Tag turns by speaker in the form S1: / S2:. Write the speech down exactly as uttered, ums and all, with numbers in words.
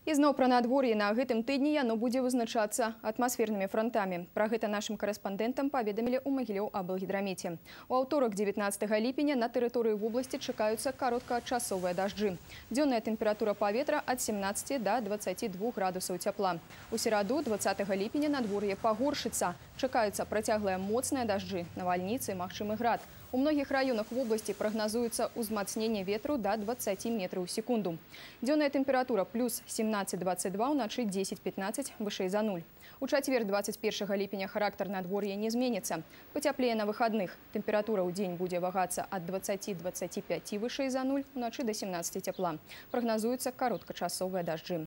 S1: Ізноў пра надвор'е на гэтым тыдні яно будзе вызначацца атмасфернымі фронтамі. Пра гэта нашым карэспандэнтам паведамілі ў Магілёў-Аблгідрамеце. У аўторак дзевятнаццатага ліпеня на тэрыторыі вобласці чакаюцца кароткачасовыя дажджы. Дзённая тэмпература паветра ад семнаццаці да дваццаці двух градусаў цяпла. У сераду дваццатага ліпеня надвор'е пагоршыцца. Чакаюцца працяглыя моцныя дажджы, навальніцы, магчымы град. У многіх раёнах вобласці прагназуецца ўзмацненне ветру да дваццаці метраў у секунду. Дзённая тэмпература плюс семнаццаць дваццаць два, уначы дзесяць пятнаццаць вышэй за нуль. У чацвер дваццаць першага ліпеня характар надвор'я не зменіцца. Пацяплее на выхадных. Тэмпература ў дзень будзе вагацца ад дваццаці дваццаці пяці вышэй за нуль, уначы да семнаццаці цяпла. Прагназуюцца кароткачасовыя дажджы.